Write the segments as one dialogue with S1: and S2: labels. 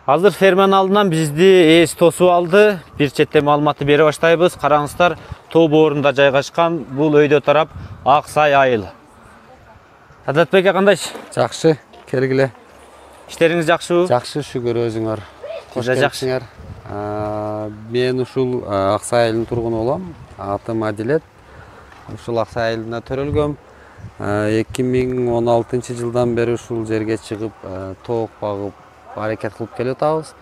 S1: Азыр ферманын алдынан бизди ээс тосуп алды. Бир четте маалыматты бере баштайбыз. Караңыздар, тоо боорунда жайгашкан бул өйдө тарап Ак Сай айыл. Садатбек кандайчы?
S2: Жакшы, келгиле.
S1: Иштериңиз жакшыбы?
S2: Жакшы, шүгүр, өзүңөр.
S1: Кош келипсиңер.
S2: Мен ушул Ак Сай айылынын тургуну болом. Атым Адилет. Ушул Ак Сай айылында төрөлгөм. 2016-жылдан бери ушул жерге чыгып, тоок багып, аракет кылып келип атабыз.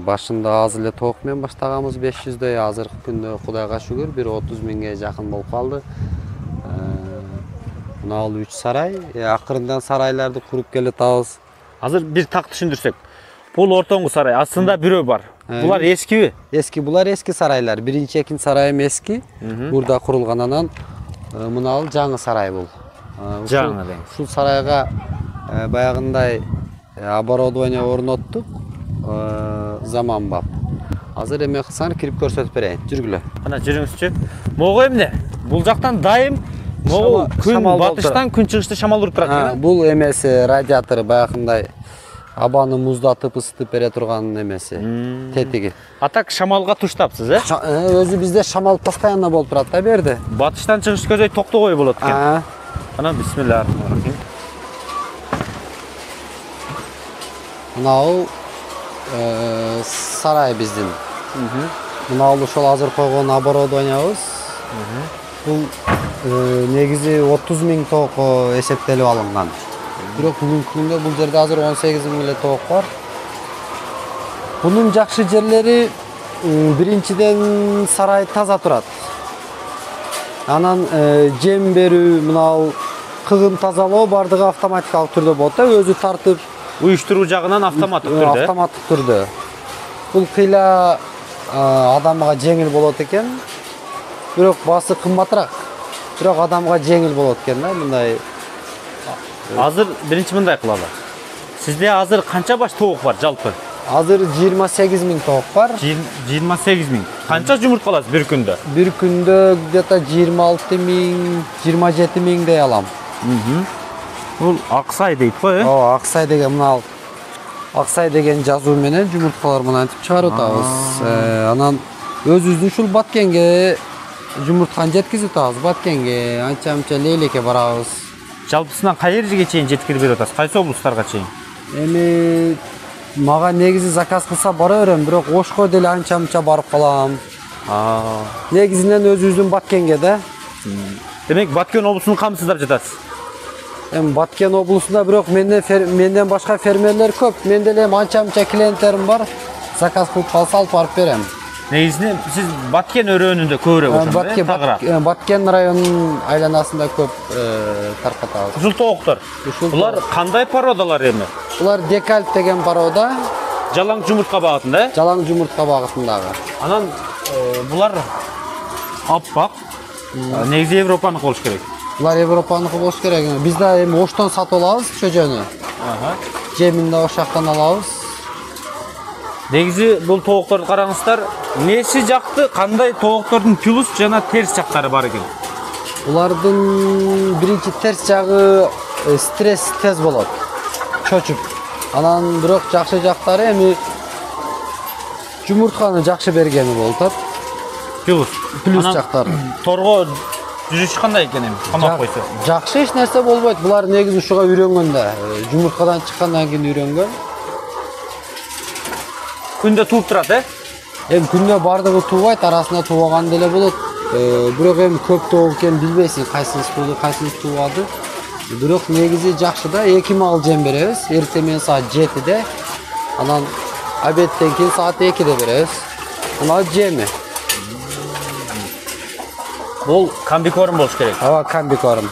S2: Башында аз эле тоок менен баштаганбыз, 500дөй. Азыркы күндө Кудайга шүгүр, 30 миңге жакын болуп калды. Мына бул 3 сарай, акырындан сарайларды куруп келип атабыз.
S1: Азыр бир так түшүндүрсөк. Бул ортоңку сарай, астында бирөө бар. Булар эскиби?
S2: Эски, булар эски сарайлар. Биринчи, экинчи сарайым эски. Бурда курулган, анан мына бул жаңы сарай бул.
S1: Жаңы дейм.
S2: Ушул сарайга баягындай оборудование орноттук, заманбап. Азыр эме кылсаң кирип көрсөтүп берейин. Жүргүлө.
S1: Кана жүрүңүзчү. Могу эмне? Бул жактан дайым могу күн батыштан күн чыгышты шамал уруп турат.
S2: Бул эмеси радиатору баягындай абаны муздатып ысытып бере турган эмеси, тетиги.
S1: А так шамалга туштапсыз,
S2: Өзү бизде шамал постоянно болуп турат да берди.
S1: Батыштан чыгыш көзөй токтогой болот экен. Анан бисмиллахиррахманиррахим.
S2: Мына бул сарай биздин. Мына бул ошол азыр койгон оборудованиябыз. Бул негизи 30 миң тоокко эсептелип алынган. Бирок бүгүнкү күндө бул жерде азыр 18 миң эле тоок бар. Бунун жакшы жерлери биринчиден сарай таза турат. Анан жем берүү, мына бул кыгын тазалоо бардыгы автоматикалык түрдө болот да, өзү тартып,
S1: уюштуруу жагынан автоматтык түрдө.
S2: Автоматтык түрдө. Бул кыйла адамга жеңил болот экен. Бирок басы кымбатыраак. Бирок адамга жеңил болот экен да, мындай.
S1: Азыр биринчи мындай кылалы. Сизде азыр канча баш тоок бар жалпы?
S2: Азыр 28 миң тоок бар.
S1: 28 миң. Канча жумуртка аласыз бир күндө?
S2: Бир күндө где-то 26 миң, 27 миңдей алам.
S1: Бул Ак Сай дейт го,
S2: Ак Сай деген мына Ак Сай деген жазуу менен жумурткалар мынантип чыгарып атабыз. Анан өзүбүздүн ушул Баткенге жумуртканы жеткизип атабыз. Баткенге, анча-мынча Лейлекке барабыз.
S1: Жалпысынан кай жерге чейин жеткирип берип атасыз? Кайсы облустарга чейин?
S2: Эми мага негизи заказ кылса бара берем, бирок Ошко деле анча-мынча барып калам. Негизинен өзүбүздүн Баткенге да.
S1: Демек Баткен облусунун камсыздап жатасыз.
S2: Эми Баткен облусунда бирок менден башка фермерлер көп. Менде эле анча-мынча клиенттерим бар. Заказ кылып калса алып барып берем.
S1: Негизинен сиз Баткен өрөөнүндө көбүрөөк ошондо,
S2: Баткен районунун айланасында көп таркатабыз.
S1: Ушул тооктор. Булар кандай породалар эми?
S2: Булар Декальп деген порода.
S1: Жалаң жумуртка багытында,
S2: Жалаң жумуртка багытындагы.
S1: Анан булар аппак. Негизи Европаныкы болуш керек.
S2: Булар Европаныкы болуш керек. Биз да эми Оштон сатып алабыз чөжөнү. Жемин да ош жактан алабыз.
S1: Негизи бул тоокторду караңыздар, неси жакты, кандай тооктордун плюс жана терс жактары бар экен?
S2: Булардын биринчи терс жагы стресс тез болот. Чочуп. Анан бирок жакшы жактары эми жумуртканы жакшы бергени болот. Плюс жактары.
S1: Торго жүрүш кандай экен эми? Камап койсо.
S2: Жакшы, эч нерсе болбойт. Булар негизи ушуга үйрөнгөн да. Жумурткадан чыккандан кийин үйрөнгөн.
S1: Күндө тууп турат,
S2: Эми күндө бардыгы туубайт, арасында туубаган деле болот. Бирок эми көп тууп экенин билбейсиң, кайсынысы тууду, кайсынысы туубады. Бирок негизи жакшы да, 2 мал жем беребиз. Эртең менен саат 7-де. Анан обедтен кийин саат 2-де беребиз. Мына жеми.
S1: Бул комбикорм болуш керек.
S2: Комбикорм.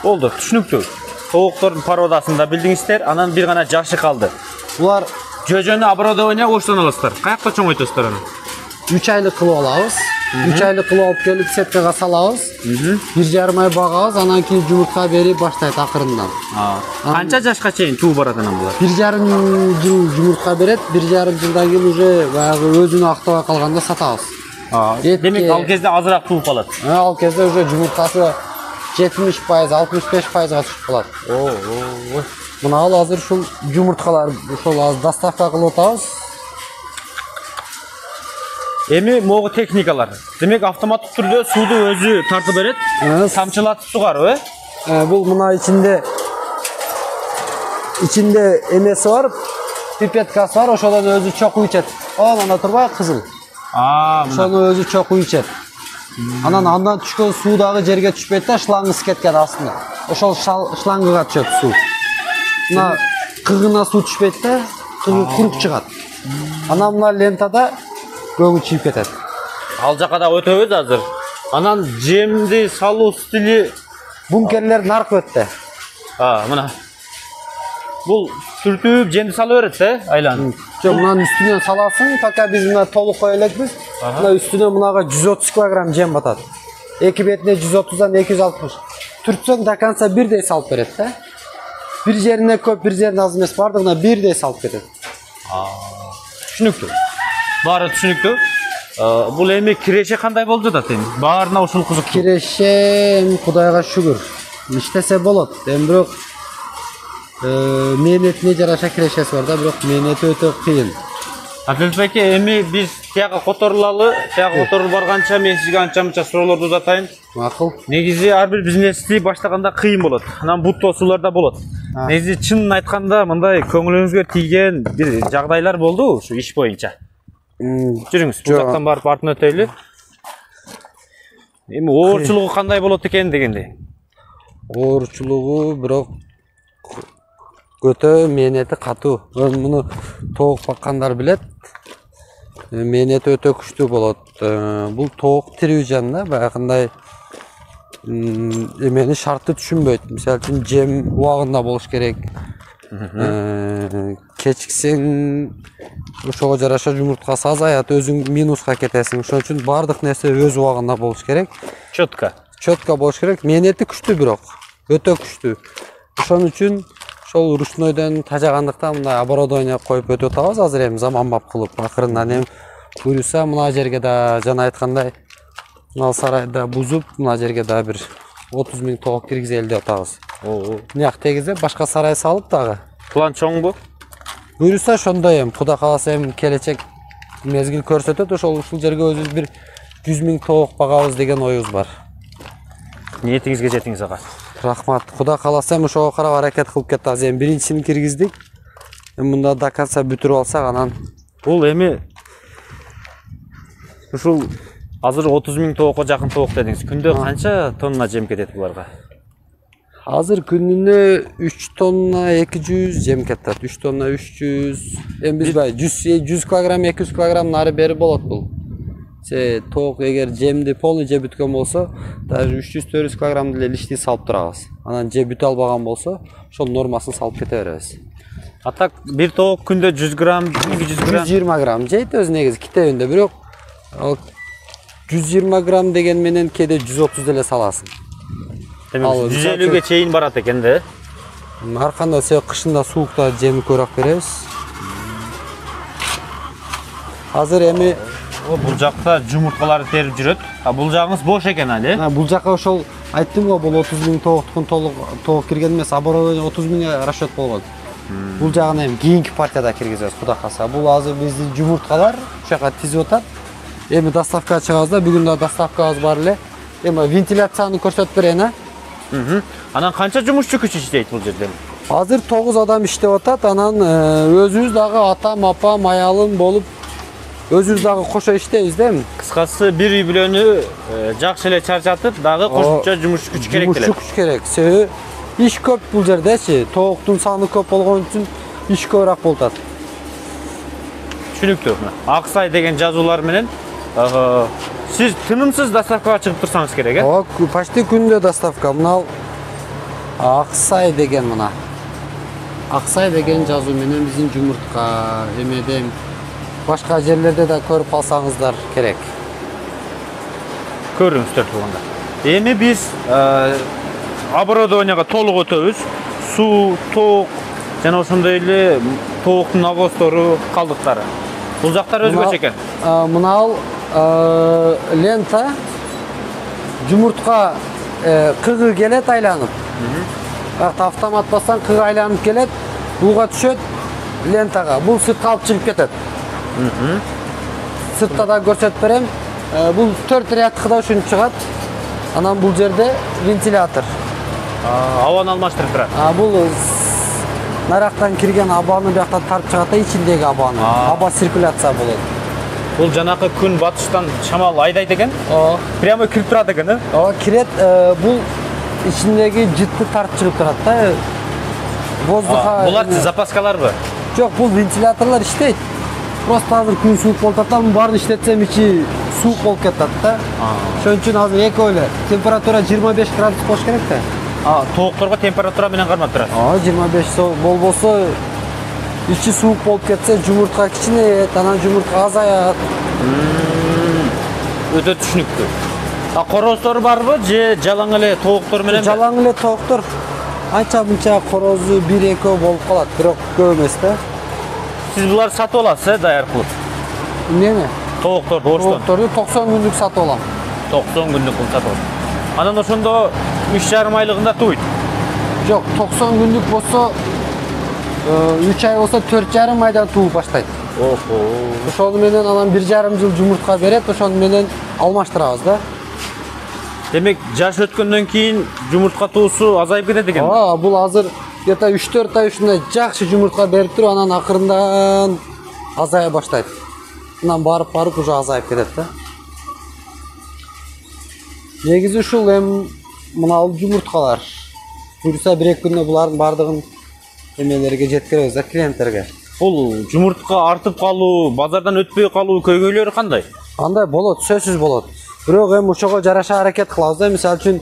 S1: Болду, түшүнүктүү. Тооктордун породасында билдиңиздер, анан бир гана жакшы калды.
S2: Булар
S1: жөжөнү оборудование Оштон аласыздар. Каякта чоңойтосуздар аны?
S2: 3 айлык кылып алабыз. 3 айлык кылып алып келип сеткага салабыз. 1,5 ай багабыз, анан кийин жумуртка берип баштайт акырындан.
S1: Канча жашка чейин туу барат анан булар?
S2: 1,5 жыл жумуртка берет, 1,5 жылдан кийин уже баягы өзүнү актабай калганда сатабыз.
S1: Демек ал кезде азыраак тууп калат.
S2: Ал кезде уже жумуртасы 70%, 65%га түшүп калат. Мына ал азыр ушул жумурткалар ошол азыр доставка кылып атабыз.
S1: Эми могу техникалар. Демек автоматтык түрдө сууду өзү тартып берет. Тамчылатып сугарып,
S2: Бул мына ичинде эмеси бар, пипеткасы бар, ошодон өзү чокуп ичет. Анда турбай кызыл. Ошону өзү чокуп ичет. Андан түшкөн суу дагы жерге түшпөйт да, шлангысы кеткен астына. Ошол шлангыга түшөт суу. Мына кыгына суу түшпөйт да, кыгы курук чыгат. Анан мына лентада көгү чыйып кетет.
S1: Ал жака да өтөбүз азыр. Анан жемди салуу стили
S2: Бункерлер наркы өттү.
S1: Мына. Бул сүртүп жемди сала берет, айланып.
S2: Жок, мынанын үстүнөн саласың, пока биз мына толук кое элекпиз. Мына үстүнөн мынага 130 кг жем батат. Эки бетине 130дан 260. Түртсөң до конца бирдей салып берет да. Бир жерине көп, бир жерине аз эмес, бардыгына бирдей салып кетет.
S1: Түшүнүктүү. Баары түшүнүктүү. Бул эми киреше кандай болуп жатат эми? Баарына ушул кызык.
S2: Киреше Кудайга шүгүр. Иштесе болот. Эми бирок мээнетине жараша кирешеси бар да, бирок мээнети өтө кыйын.
S1: Адилет байке, эми биз тияга которулалы, тияга которулуп барганча мен сизге анча-мынча суроолорду узатайын.
S2: Макул.
S1: Негизи ар бир бизнести баштаганда кыйын болот. Анан бут тосуулар да болот. Негизи чынын айтканда мындай көңүлүңүзгө тийген бир жагдайлар болду ушу иш боюнча. Жүрүңүз, бул жактан барып артын өтөйлү. Эми оорчулугу кандай болот экен дегенде.
S2: Оорчулугу бирок өтө мээнети катуу. Муну тоок баккандар билет. Мээнети өтө күчтүү болот. Бул тоок тирүү жан да, баягындай эмени шартты түшүнбөйт. Мисалы үчүн жем убагында болуш керек. Кечиксең ошого жараша жумурткасы азаят, өзүң минуска кетесиң. Ошон үчүн бардык нерсе өз убагында болуш керек. Чөткө болуш керек. Мээнети күчтүү бирок, өтө күчтүү. Ошон үчүн ошол ручнойдон тажагандыктан мындай оборудование коюп өтүп атабыз азыр эми заманбап кылып. Акырындан эми буюрса мына жерге да жана айткандай мына сарайда бузуп, мына жерге да бир 30 000 тоок киргизели деп атабыз. Мыяк тегизеп башка сарай салып дагы.
S1: План чоңбу?
S2: Буюрса ошондой эми Кудай кааласа эми келечек мезгил көрсөтөт, ушул жерге өзүбүз бир 100 000 тоок багабыз деген оюбуз бар.
S1: Ниетиңизге жетиңиз ага.
S2: Рахмат. Кудай кааласа эми ошого карап аракет кылып кетебиз. Эми биринчисин киргиздик. Эми мында до конца бүтүрүп алсак анан
S1: бул эми ушул азыр 30 000 тоокко жакын тоок дедиңиз. Күндө канча тонна жем кетет буларга?
S2: Азыр күнүнө 3 тонна 200 жем кетет. 3 тонна 300. Эми биз 100 кг, 200 кг нары бери болот бул. Тоок эгер жемди полный жеп бүткөн болсо, даже 300-400 кг деле лишний салып турабыз. Анан жеп бүтө албаган болсо, ошол нормасын салып кете беребиз.
S1: А так бир тоок күндө 100 грамм, 200 грамм,
S2: 120 грамм жейт өзү негизи китебинде, бирок 120 грамм деген менен кээде 130 деле саласың.
S1: Демек 150ге чейин барат экен да.
S2: Ар кандай себеп кышында суукта жемди көбүрөөк беребиз. Азыр эми
S1: бул жакта жумурткаларды терип жүрөт. Бул жагыңыз бош экен али.
S2: Бул жакка ошол айттым го, бул 30 000 тооктукун толук тоок кирген эмес, оборудование 30 000 расчет болгон. Бул жагын эми кийинки партияда киргизебиз, Кудай кааласа. Бул азыр биздин жумурткалар ошол жака тизип атат. Эми доставка чыгабыз да, бүгүн да доставкабыз бар эле. Эми вентиляцияны көрсөтүп берейин,
S1: Анан канча жумушчу күч иштейт бул жерде?
S2: Азыр 9 адам иштеп атат. Анан өзүбүз дагы атам, апам, аялым болуп өзүбүз дагы кошо иштейбиз да эми.
S1: Кыскасы бир үй бүлөнү жакшы эле чарчатып, дагы кошумча жумуш күч керек деле.
S2: Жумуш күч керек. Себеби иш көп бул жердечи. Тооктун саны көп болгон үчүн иш көбүрөөк болуп атат.
S1: Түшүнүктүү. Аксай деген жазуулар менен сиз тынымсыз доставкага чыгып турсаңыз керек,
S2: Почти күндө доставка. Мына Аксай деген мына. Аксай деген жазуу менен биздин жумуртка эмеден башка жерлерде да көрүп калсаңыздар керек.
S1: Көрүңүздөр турганда. Эми биз оборудованияга толук өтөбүз. Суу, тоок жана ошондой эле тооктун навозтору, калдыктары. Бул жактар өзгөчө экен.
S2: Мына лента жумуртка кыгы келет айланып. Бирок автомат бассаң кыг айланып келет, буга түшөт лентага. Бул сыртка алып чыгып кетет. Сыртта да көрсөтүп берем. Бул 4 рядкыда ушинтип чыгат. Анан бул жерде вентилятор.
S1: Абаны алмаштырып турат.
S2: Бул нарактан кирген абаны бияктан тарып чыгат да, ичиндеги абаны. Аба циркуляция болот.
S1: Бул жанакы күн батыштан шамал айдайт экен. Прямо кирип турат экен,
S2: Кирет, бул ичиндеги жытты тарып чыгып турат да. Воздуха.
S1: Булар запаскаларбы?
S2: Жок, бул вентиляторлор иштейт. Просто азыр күн суук болуп атат, баарын иштетсем ичи суук болуп кетет да. Ошон үчүн азыр экөөлө. Температура 25 градус болуш керек да.
S1: Тоокторго температура менен кармап турат.
S2: 25 болбосо ичи суук болуп кетсе, жумуртка кичинейет, анан жумуртка азаят.
S1: Өтө түшүнүктүү. Корозтору барбы же жалаң эле тооктор менен?
S2: Жалаң эле тооктор. Анча мынча корозу 1-2 болуп калат, бирок көп эмес да.
S1: Сиз буларды сатып аласыз, даяр кылып?
S2: Эмнени?
S1: Тоокторду Орустан.
S2: Тоокторду 90 күндүк сатып алам.
S1: 90 күндүк кылып сатып алам. Анан ошондо 3,5 айлыгында туйт.
S2: Жок, 90 күндүк болсо 3 ай болсо 4,5 айдан тууп баштайт. Ошону менен анан 1,5 жыл жумуртка берет, ошону менен алмаштырабыз да.
S1: Демек, жаш өткөндөн кийин жумуртка туусу азайып кетет экен.
S2: Бул азыр где-то 3-4 ай ушундай жакшы жумуртка берип туруп, анан акырындан азая баштайт. Анан барып уже азайып кетет да. Негизи ушул мына жумурткалар. Буюрса 1-2 күндө булардын бардыгын эмелерге жеткиребиз да, клиенттерге.
S1: Бул жумуртка артып калуу, базардан өтпөй калуу көйгөйлөрү кандай?
S2: Андай болот, сөзсүз болот. Бирок ошого жараша аракет кылабыз да. Мисалы үчүн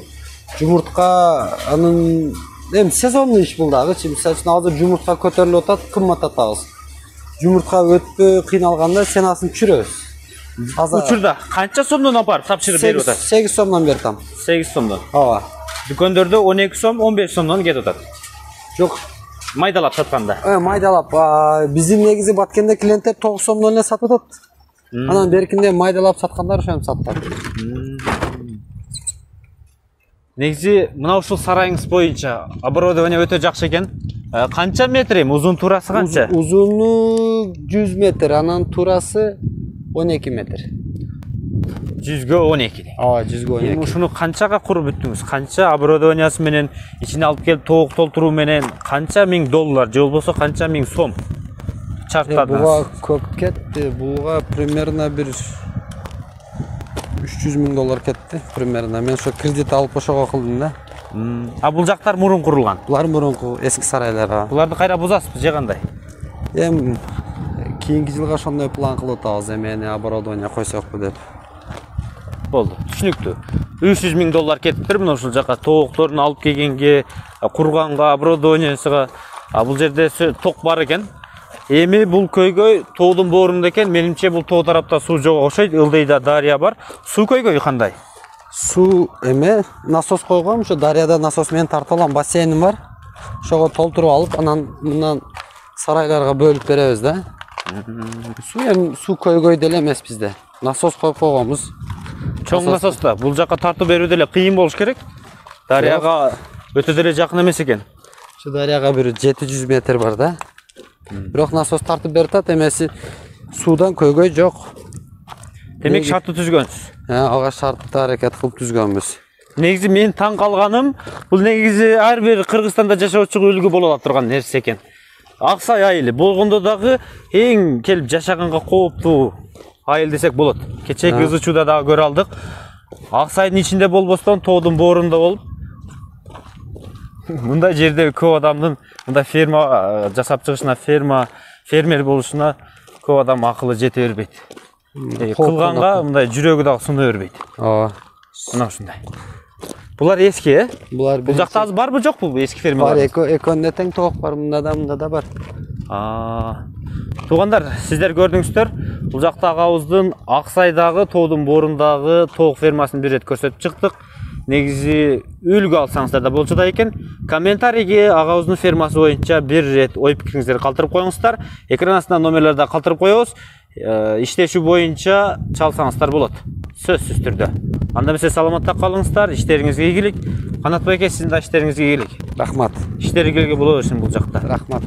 S2: жумуртка анын сезондуу иш бул дагычы. Мисалы үчүн азыр жумуртка көтөрүлүп атат, кымбат атабыз. Жумуртка өтпөй кыйналганда ценасын түшүрөбүз.
S1: Учурда канча сомдон апарып тапшырып берип атат?
S2: 8 сомдон берип атам.
S1: 8 сомдон.
S2: Ооба.
S1: Дүкөндөрдө 12 сом, 15 сомдон кетип атат.
S2: Жок,
S1: майдалап сатканда.
S2: Майдалап. Биздин негизи баткенде клиенттер 9 сомдон эле сатып атат. Анан беркинде майдалап саткандар ошентип сатат.
S1: Негизи мына ушул сарайыңыз боюнча оборудование өтө жакшы экен. Канча метр узун турасы канча?
S2: Узуну 100 метр, анан турасы 12 метр.
S1: 100гө 12.
S2: Ооба, 100гө 12.
S1: Ушуну канчага куруп бүттүңүз? Канча оборудованиясы менен, ичине алып келип тоок толтуруу менен канча миң доллар же болбосо канча миң сом чарттадыңыз?
S2: Буга көп кетти. Буга примерно бир 300 миң доллар кетти примерно. Мен ошо кредит алып ошого кылдым да.
S1: Бул жактар мурун курулган.
S2: Булар мурунку эски сарайлар.
S1: Буларды кайра бузасызбы же кандай?
S2: Кийинки жылга ошондой план кылып атабыз, эмени оборудование койсокпу деп.
S1: Болду, түшүнүктүү. 300 миң доллар кетиптир мына ушул жака тоокторун алып келгенге, курганга, оборудованиясыга. Бул жерде ток бар экен. Эми бул көйгөй тоодун боорунда экен. Менимче бул тоо тарапта суу жок окшойт. Ылдыйда дарыя бар. Суу көйгөйү кандай?
S2: Суу насос койгом, ошо дарыяда насос менен тартып алам, бассейним бар. Ошого толтуруп алып, анан мындан сарайларга бөлүп беребиз да. Суу көйгөй деле эмес bizde. Насос коюп койгонбуз.
S1: Чоң насоста бул жака тартып берүү деле кыйын болуш керек. Дарыяга өтө деле жакын эмес экен.
S2: Şu darıyaga bir 700 metre var da. Бирок насос тартып берип атат, эмеси суудан көйгөй жок.
S1: Демек шартты түзгөнсүз.
S2: Ага шартты аракет кылып түзгөнбүз.
S1: Негизи мен таң калганым, бул негизи ар бир Кыргызстанда жашоочуга үлгү боло ала турган нерсе экен. Аксай айылы болгондо дагы эң келип жашаганга кооптуу айыл десек болот. Кечеги ызы чууда дагы көрө алдык. Аксайдын ичинде болбостон тоодун боорунда болуп мындай жерде көп адамдын мындай ферма жасап чыгышына, фермер болушуна көп адам акылы жете бербейт. Кылганга мындай жүрөгү дагы суна бербейт.
S2: Ооба.
S1: Мына ушундай. Булар эски,
S2: Булар
S1: бул жакта азыр барбы жокпу эски фермалар?
S2: Бар, экөндө тең тоок бар, мында да бар.
S1: Туугандар, сиздер көрдүңүздөр, бул жакта агабыздын Аксайдагы тоодун боорундагы тоок фермасын бир рет көрсөтүп чыктык. Негизи үлгү алсаңыздар да болчу да экен. Комментарийге агабыздын фермасы боюнча бир рет ой пикириңиздерди калтырып коюңуздар. Экран астына номерлерди калтырып коебуз. Иштешүү боюнча чалсаңыздар болот. Сөзсүз түрдө. Анда эмесе саламатта калыңыздар, иштериңизге ийгилик. Канат байке, сиздин да иштериңизге ийгилик.
S2: Рахмат.
S1: Иштери келге боло берсин бул жакта.
S2: Рахмат.